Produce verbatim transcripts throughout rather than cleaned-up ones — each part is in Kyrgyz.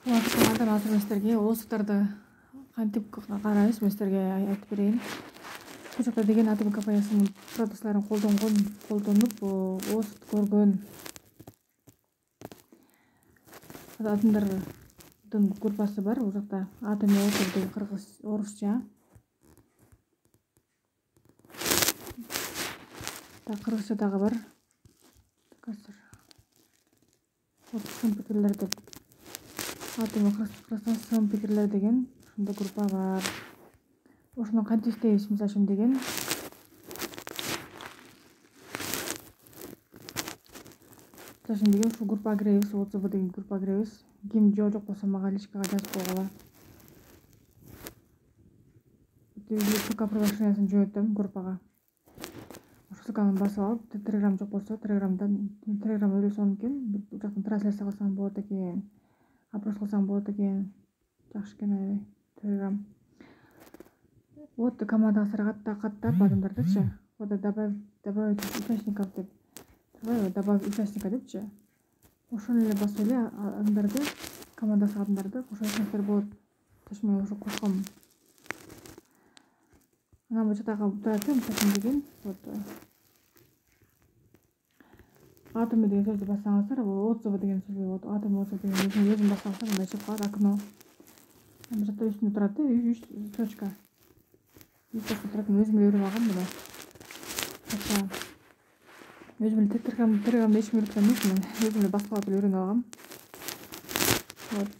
Саламатсыздар, азыр мен силерге оозуктарды кантип карайбыз мен силерге айтып берейин. Бул жакта деген атом компаниясынын продукцияларын колдонгон, колдонуп оозут көргөн атомдордун группасы бар. Бул жакта атом оозу деген кыргыз орусча. Так кыргызча дагы бар. Азыр сын пикирлер деп атом кыргызстан сын пикирлер деген ушундай группа бар. Ошону кантип иштейбиз мисалы үчүн деген мисалы үчүн деген ушул группага киребиз, отзывы деген группага киребиз. Ким жок болсо мага личкага жазып койгула. ссылка приглашениясын жөнөтөм группага. Ошол ссылканы басып алып, телеграм жок болсо телеграмдан телеграм ойлосоң экен, бул жактан трансляция кылсаң болот экен, опрос кылсаң болот экен. Жакшы экен аябай телеграм. Вот командага сарагаттап каттап адамдардычы. Вот добавить добавить участников деп. Турбайбы? Добавить участника депчи. Ошону эле басып эле адамдарды, командасы адамдарды кошсоңуздар болот. Таш мен ошо кошком. Анан бул жактагы турат, мисалы деген вот атом деген сөздү бассаңыздар, бул отзывы деген сөз болот. Атом отзывы деген өзүн бассаңыздар мындай чыгып калат окно. Бул жакта үстүндө турат, үч точка. үч точка турат, өзүм эле үйрөнүп алгам муну. Өзүм эле телеграм телеграмда эч ким үйрөткөн эмес мен. Өзүм эле басып алып үйрөнүп алгам. Вот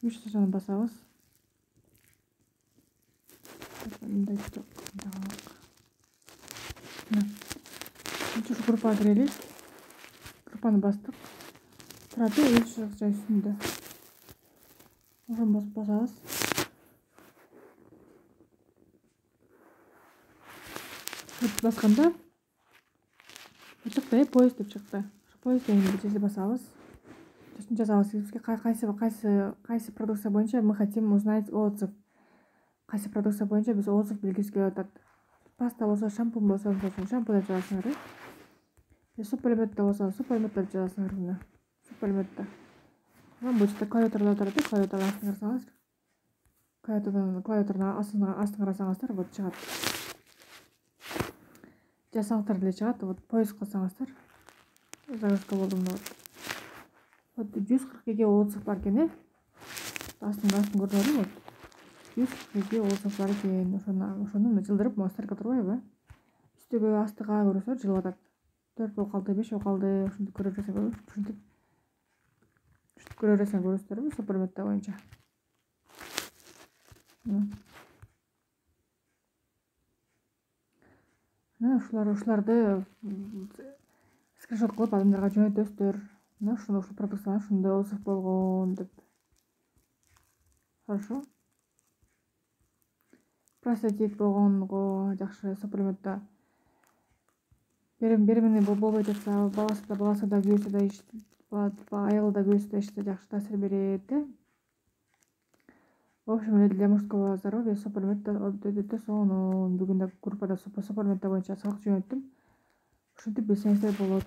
үч точканы басабыз. Мындай жок. Ушул группага кирелик. Группаны бастык. Турат, үч точка үстүндө. Ошону басып басабыз. Басканда чыкты, поезд деп чыкты. Ошо поезд дегенди жерди басабыз. Сосын жазабыз, бизге кайсы кайсы кайсы продукция боюнча мы хотим узнать отзыв. Кайсы продукция боюнча биз отзыв билгибиз келип атат. Паста болсо, шампунь болсо, шампунь деп жазасыңар. Суполиматта болсо, суполимат деп жазасыңар мына. Суполиматта. Анан бул жерде клавиатурада турат, клавиатураны астына карасаңыз, клавиатурадан клавиатураны астына астына карасаңыздар вот чыгат. Жазсаңыздар деле чыгат. Вот поиск кылсаңыздар. Загрузка болду мына вот. Вот жүз кырк эки отзыв бар экен, э? Астын астын көрдүңөрбү? Вот. жүз кырк эки отзыв бар экен. Ошону ошону жылдырып монстрка турбайбы? Үстүгө астыга көрөсөөр жылып атат. төрт болуп калды, беш болуп калды. Ушинтип көрө берсең, ушинтип ушинтип көрө берсең көрөсүздарбы суполиматта боюнча. Мына ушулар ушуларды скриншот кылып адамдарга жөнөтөсүздөр. Мына ушул ушул продукцияга ушундай отзыв болгон деп. Хорошо. Простатит болгонго жакшы суполиматта. Беремени болбой жатса, баласы да баласы да күйөөсү да аялы да күйөөсү да ичсе жакшы таасир берет, э? В общем, для мужского здоровья суполимат өтө сонун. Бүгүн да группада суполимат боюнча сабак жөнөттүм. Ушинтип билсеңиздер болот.